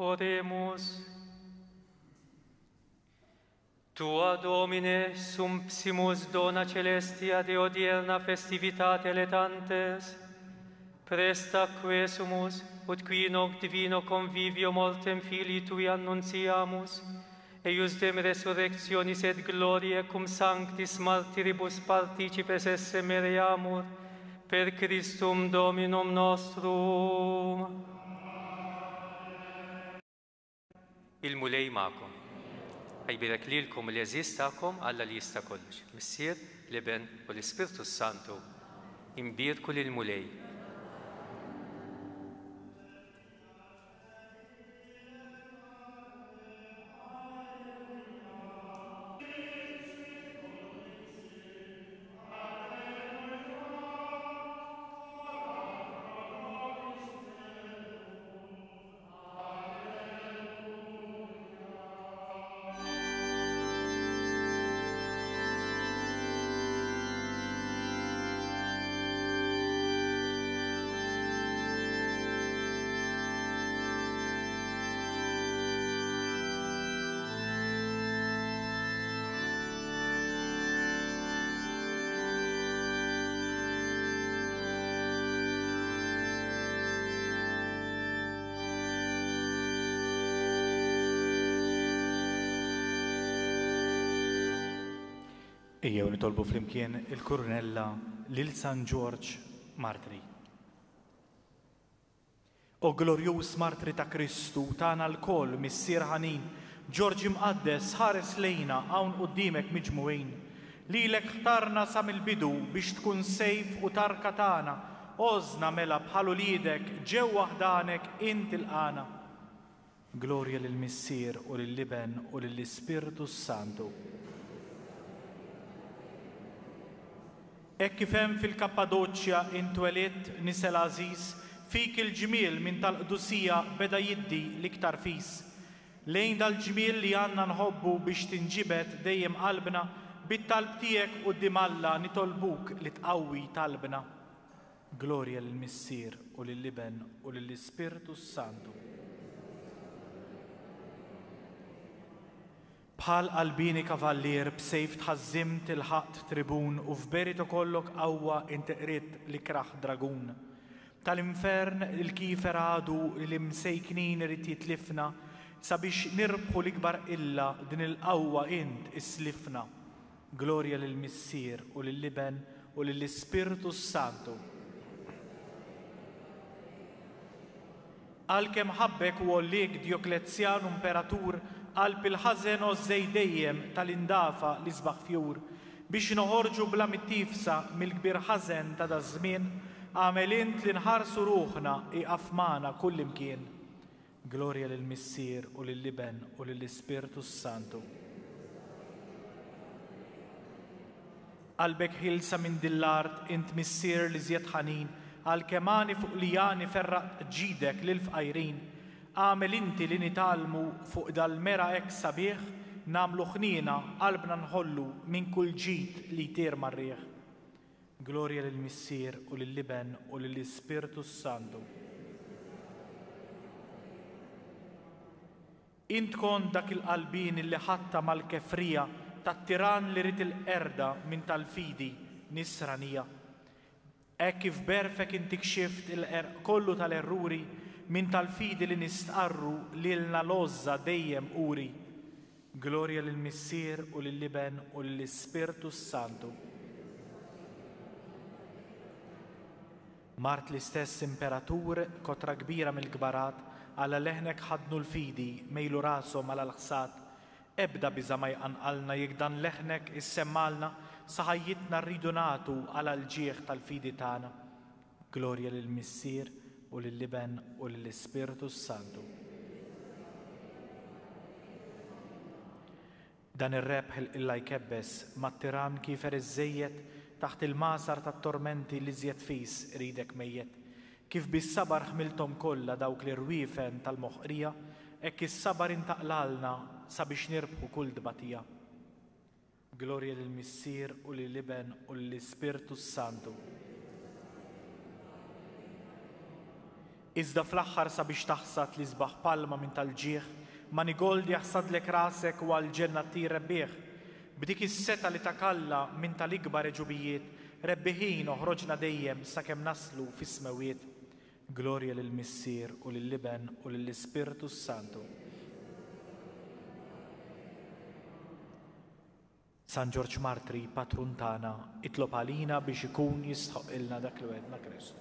Oremus. Tua Domine sumpsimus dona celestia de odierna festivitate letantes, presta quesumus, ut qui in hoc divino convivio mortem Filii Tui annunciamus, eius dem resurrectionis et gloriae cum sanctis martiribus participes esse mereamur, per Christum Dominum nostrum. Il-Mulej magħkom. Ħajbierek lilkom l-għeżież tagħkom Alla li jista' kollox, Missier, l-Iben u l-Ispirtu Santu. Imbierku lill-Mulej. Ejjew nitolbu flimkien il-Kurunella lil San Ġorġ Martri. O glorjuż Martri ta' Kristu, tagħna lkoll Missier ħanin, Ġorġ imqaddes ħares lejna hawn quddiemek miġmugħin. Lilek ħtarna sa mill-bidu biex tkun sejf u tarka tagħna, għożna mela bħal uliedek ġewwa ħdanek int ilqana. Glorja lill-Missier u lill-Iben u lill-Ispirtu Santu. Hekk kif hemm fil-Kappadoċja intwelidt nisel għażiż, fik il-ġmiel minn tal-qdusija beda jiddi l-iktar fis. Lejn dal-ġmiel li għandna nħobbu biex tinġibed dejjem qalbna, bit-talb tiegħek quddiem Alla nitolbuk li tqawwi talbna. Glorja lill-Missier u lill-Iben u lill-Ispirtu Santu. Bħal qalbini kavallier b'sejf tħażżimt il-ħaqt tribun u f'berito kollok qawwa inti qridt l-ikrah dragun. Tal-infern il-kifer għadu li l-imsejknin irid jitlifna sabiex nirbħu l-ikbar illa din il-qawwa int islifna. Glorja lill-Missier u lill-Iben u lill-Ispirtu Santu. Għalkemm ħabbek u għolliek Djoklezjan imperatur, qalb il-ħażen għożżej dejjem tal-indafa li sbaħ fjur, biex noħorġu bla mittifsa mill-kbir ħażen ta' daż-żmien, għamel int li nħarsu ruħna iqaf magħna kullimkien. Glorja lill-Missier u lill-Iben u lill-Ispirtu Santu. Qalbek ħilsa minn din l-art int Missier li żjed ħanin, għalkemm għani fuq li għani ferraq ġidek lill-fqajrin. Għamel inti li nitgħallmu fuq dal-mera hekk sabiħ, nagħmlu ħniena qalbna nħollu minn kull ġid li jtir mar-riħ. Glorja lill-Missier u lill-Iben u lill-Ispirtu Santu. Int kont dak il-qalbin li ħatta mal-kefrija tat-tiran li rid il-qerda minn tal-fidi nisranija. Hekk kif berfek inti kxift il-qerq kollu tal-erruri minn tal-fidi li nistqarru lilna l-għożża dejjem uri. Glorja lill-Missier u lill-Iben u lill-Ispirtu s-Santu. Mart l-istess imperatur, kotra kbira mill-kbarat, għala leħnek ħadnu l-fidi, mejlu rashom għal l-ħsad. Ebda biża' ma jqanqalna jekk dan leħnek issemmalna, sa ħajjitna rridu nagħtu għal l-ġieħ tal-fidi tagħna. Glorja lill-Missier u lill-Iben u lill-Ispirtu s-Santu. Dan ir-rebħ il-qilla jkebbes mat-tiran kiefer iżżejjed taħt il-masar tat-tormenti li żjed fis iridek mejjet. Kif bis-sabar ħmilthom kollha dawk l-irwiefen tal-moħqrija, hekk is-sabar intaqlalna sabiex nirbħu kull tbatija. Glorja lill-Missier u lill-Iben u lill-Ispirtu s-Santu. Iżda fl-aħħar sabiex taħsad li sbaħ palma minn tal-ġieħ, manigold jaħsadlek rasek u għall-ġenna ttir rebbieħ. B'dik is-seta li takalla minn tal-ikbar eġubijiet, rebbiħin oħroġna dejjem sakemm naslu fis-smewiet. Glorja lill-Missier u lill-Iben u lill-Ispirtu s-Santu. San Ġorġ Martri, patrun tagħna, itlob għalina biex ikun jistħoqilna dak li wegħedna Kristu.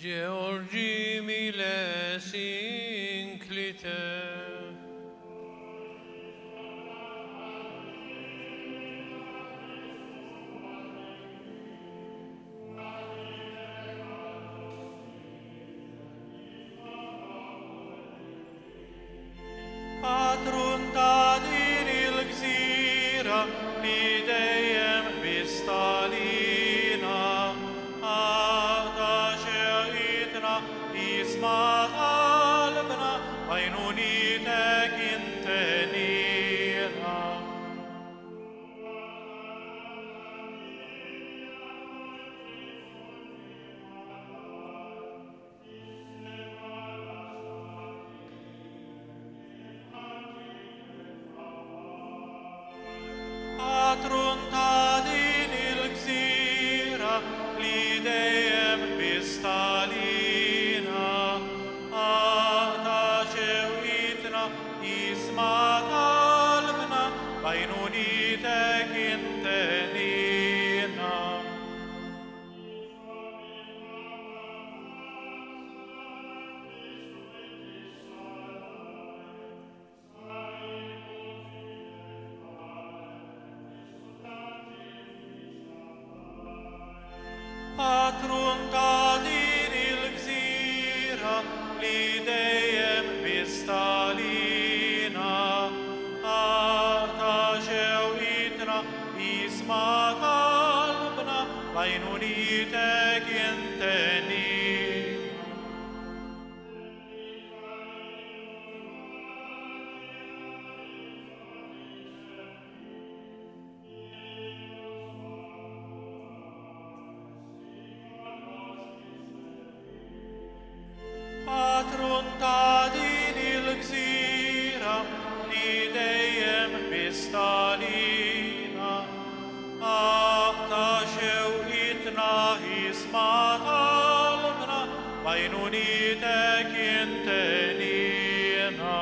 Georgi miles inclite. Patrun ta' din il-gżira li dejjem bistalina, għata xeqitna isma' qalbna b'għajnunitek intenina. Patrun ta' din il-gżira li dejjem bistalina, għata xewqitna isma' qalbna b'għajnunitek intenina. Patrun ta' din il-gżira li dejjem bistalina, għata xewqitna isma' qalbna b'għajnunitek intenina. Patrun ta' din il-gżira li dejjem bistalina, għata xewqitna isma' qalbna b'għajnunitek intenina.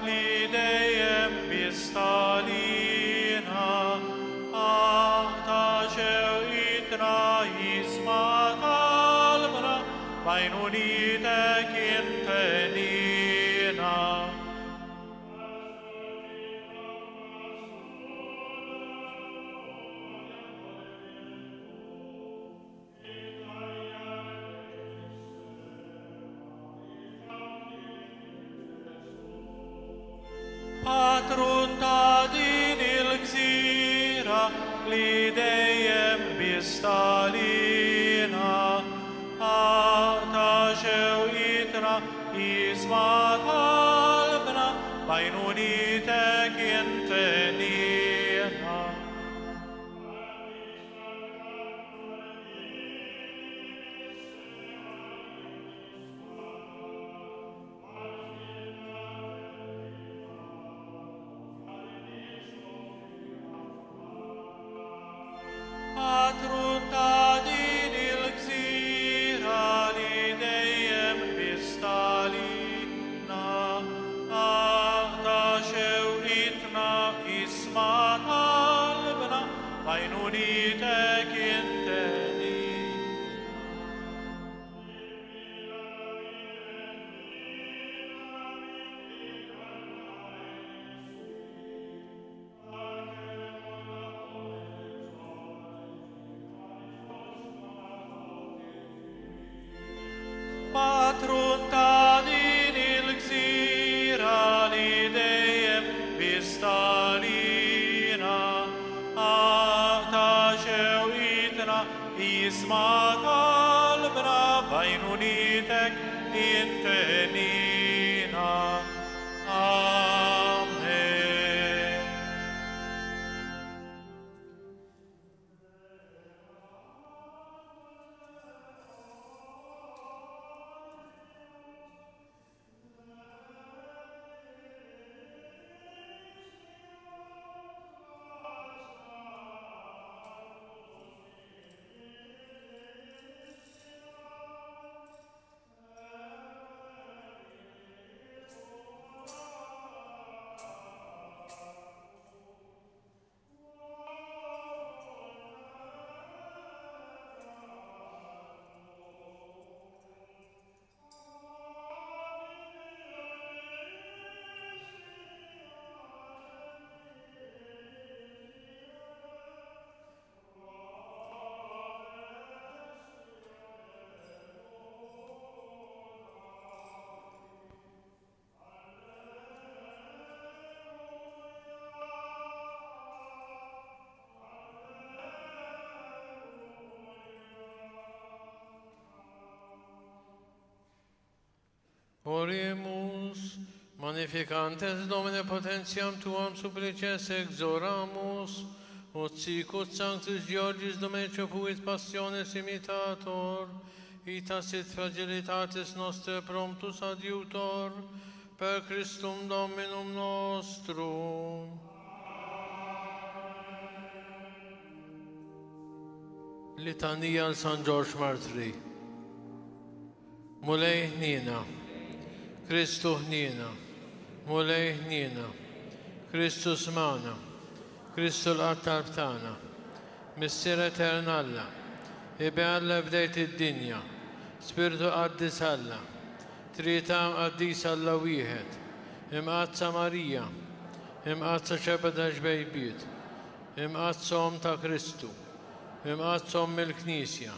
li dejjem biss tagħlina, aqta' xewqitna isma' talbna, b'għajnunitek intenina. Patrun ta' din il-gżira li dejjem biss tagħlina, aqta' xewqitna isma' talbna, b'għajnunitek intenina. Patrun ta' din il-gżira li dejjem biss tagħlina, aqta' xewqitna isma' talbna, b'għajnunitek intenina. Patrun ta' din il-gżira li dejjem biss tagħlina, aqta' xewqitna isma' talbna, b'għajnunitek intenina. Amen. Oremus, magnificantes Domine potentiam tuam supplices exoramus, ut sicut sanctus Georgius Domenico fuit passiones imitator, ita sit fragilitatis nostre promptus adiutor, per Christum Dominum nostrum. Litanija għal San Ġorġ Martri. Mulej ħniena, Kristu ħniena, Mulej ħniena, Kristu smana, Kristu l-qattar tagħna, Missier Etern Alla, Iben Alla bdejt id-dinja, Spiritu Qaddis Alla, Trinità Qaddis Alla wieħed, Imqaddsa Marija, Imqaddsa Xebeda Ġbejbiet, Imqaddsa Omm ta' Kristu, Imqaddsa Omm il-Knisja,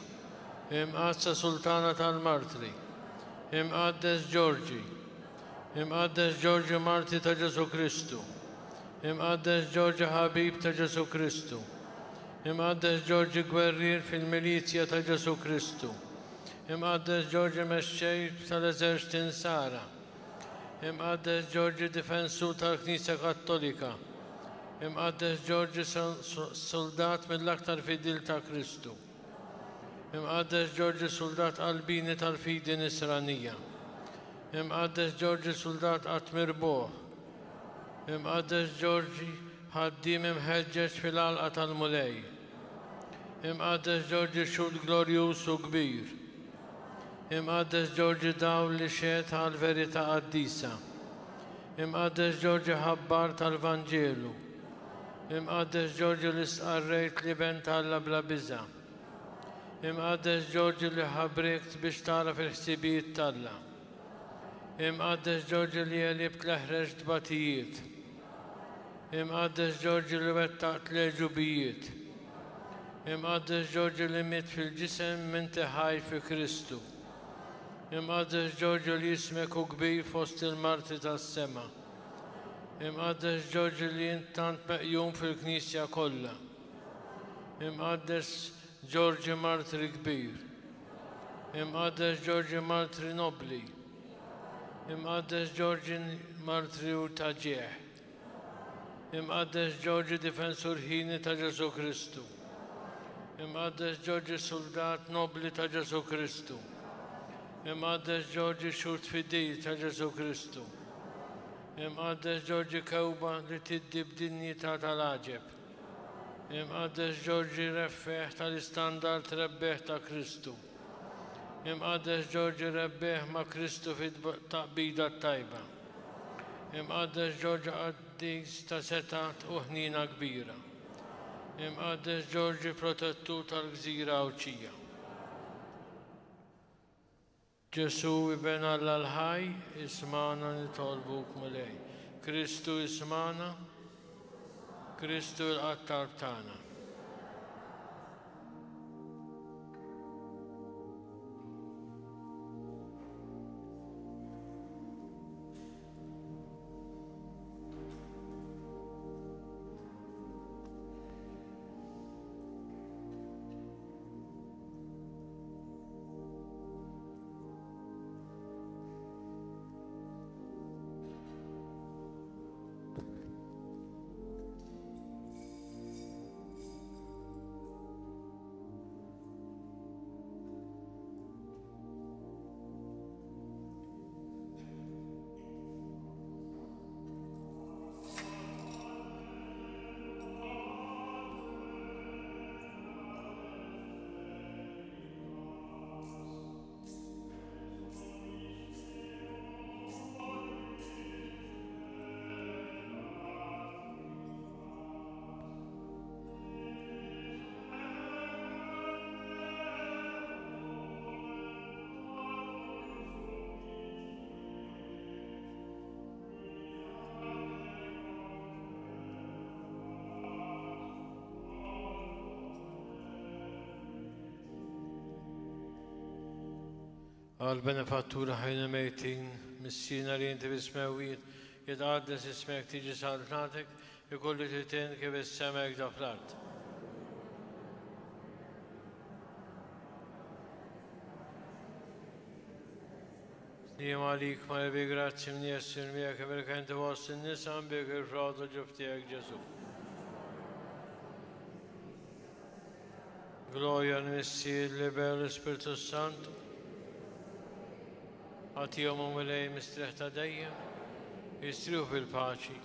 Imqaddsa Sultana tal-Martri, Imqaddes Ġorġi, Imqaddes Ġorġi Marti ta' Ġesu Kristu, Imqaddes Ġorġi Ħabib ta' Ġesu Kristu, Imqaddes Ġorġi Gwerrier fil-Milizja ta' Ġesu Kristu, Imqaddes Ġorġi Mexxej tal-Eżerċti Nsara, Imqaddes Ġorġi Difensur tal-Knisja Kattolika, Imqaddes Ġorġi Soldat mill-aktar fidil ta' Kristu, Imqaddes Ġorġi Soldat qalbini tal-fidi Nisranija, Imqaddes Ġorġi Soldat qatt mirbuħ, Imqaddes Ġorġi ħaddiem imħeġġeġ fil-għalqa tal-Mulej, Imqaddes Ġorġi xhud glorjuż u kbir, Imqaddes Ġorġi dawl li xehed għall-verità qaddisa, Imqaddes Ġorġi ħabbar tal-Vanġelu. Imqaddes Ġorġi li stqarrejt li ben t'Alla bla biża'. Imqaddes Ġorġi li ħabrikt biex tagħraf il-ħsibijiet t'Alla. Imqaddes Ġorġi li għelibt l-eħreġ tbatijiet. Imqaddes Ġorġi li wettaqt l-għeġubijiet. Imqaddes Ġorġi li miet fil-ġisem minti ħaj fi Kristu. Imqaddes Ġorġi li ismek hu kbir fost il-marti tas-sema. Imqaddes Ġorġi li int tant meqjum fil-Knisja kollha. Imqaddes Ġorġi martri kbir. Imqaddes Ġorġi martri nobli. Imqaddes Ġorġi martri u ta' ġieħ. Imqaddes Ġorġi difensur ħini ta' Ġesù Kristu. Imqaddes Ġorġi soldat nobli ta' Ġesù Kristu. Imqaddes Ġorġi xhud fidil ta' Ġesù Kristu. Imqaddes Ġorġi kewba li tiddi b'dinjità tal-għaġeb. Imqaddes Ġorġi reffeħ tal-istandard rebbieħ ta' Kristu. Imqaddes Ġorġi rebbieħ ma' Kristu fit-taqbida t-tajba. Imqaddes Ġorġi qaddis ta' setgħa u ħniena kbira. Imqaddes Ġorġi protettur tal-gżira Għawdxija. Ġesù Iben Alla l-ħaj, ismagħna nitolbuk Mulej. Kristu ismagħna, Kristu l-qattar tagħna. Għal-benefattura ħajna mejtin, missina li inti fis-smewwiet, jitqaddes ismek, tiġi saltnatek, ikollu titin kif is-semek da fl-art. Slim għalik ma bi grazzi mnies miegħek iberek inti fost in-nisa mbik il-frott u ġuf tiegħek Ġesù. Gloria l-Missier, l-Iben u l-Ispirtu Santu. Għatijom u Mulej mistrieħ ta' dejjem, jistrieħu fil-paċi.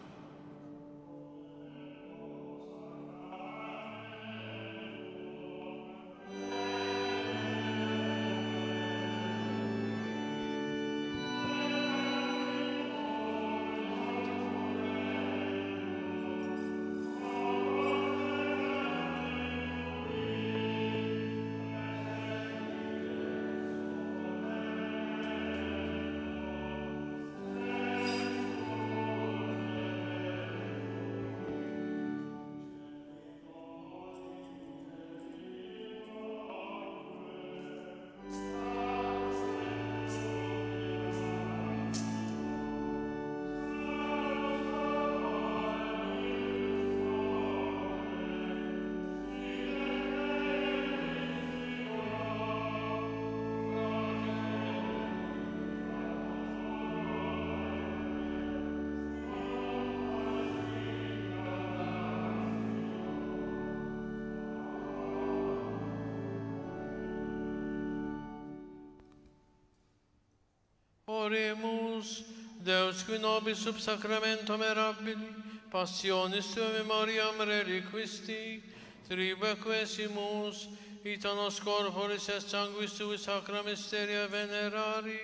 Oremus, Deus qui nobis sub sacramento mirabili, passionis tue memoriam reliquisti, tribe quesimus, ita nos corporis et sanguis tui sacra mysteria venerari,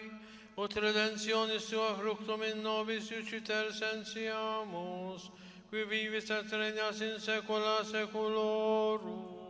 ut redemptionis tua fructum in nobis iuciter sentiamus, qui vivis et regnas in saecula saeculorum.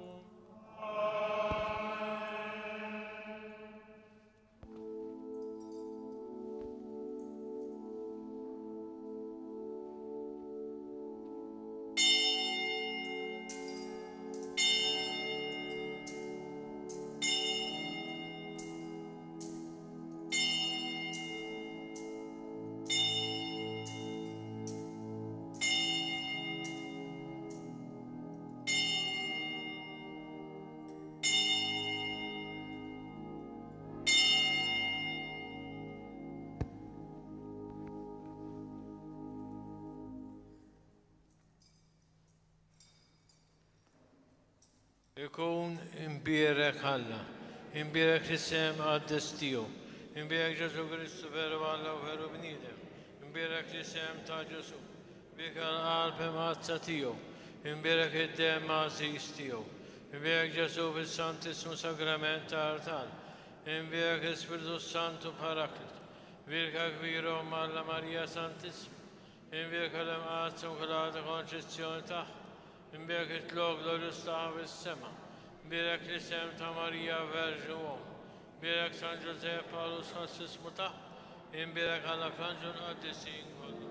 Ikun imbierek Alla, imbierek l-isem qaddis tiegħu, imbierek Ġesù Kristu veru Alla u veru bniedem, imbierek l-isem ta' Ġesù, bik għall-qalb imqaddsa tiegħu, imbierek id-demm għażiż tiegħu, imbierek Ġesù fis-Santissmu Sagrament ta' Artal, imbierek l-Ispirtu Santu Paraklit, Birka kbira Omm Alla Marija Santissima, imbierek l-Imqaddsa Immakulata Konċezzjoni tagħha, imbierek it-tlok glorjuż tagħha fis-sema, imbierek l-isem ta' Marija Verġni Omm, imbierek San Ġużepp għarus ħassismu tagħha, imbierek Alla fl-anġlu l-qaddisin kollha.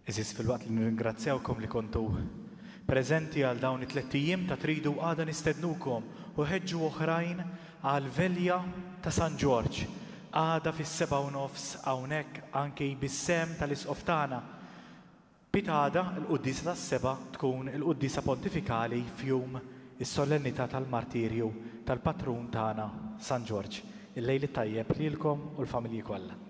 Eżis, fil-waqt li nirringrazzjawkom li kontu preżenti għal dawn it-tliet ijiem ta' tridu, għada nistednukom u ħeġġu oħrajn għal velja ta' San Ġorġ. Għada fis-sebgħa u nofs hawnhekk anki bis-sem tal-Isqof tagħna. Pitada l-quddiesa tas-sebgħa tkun il-quddiesa pontifikali f'jum is-solennità tal-martirju tal-patrun tagħna San Ġorġ. Il-lejl it-tajjeb lilkom u l-familji kollha.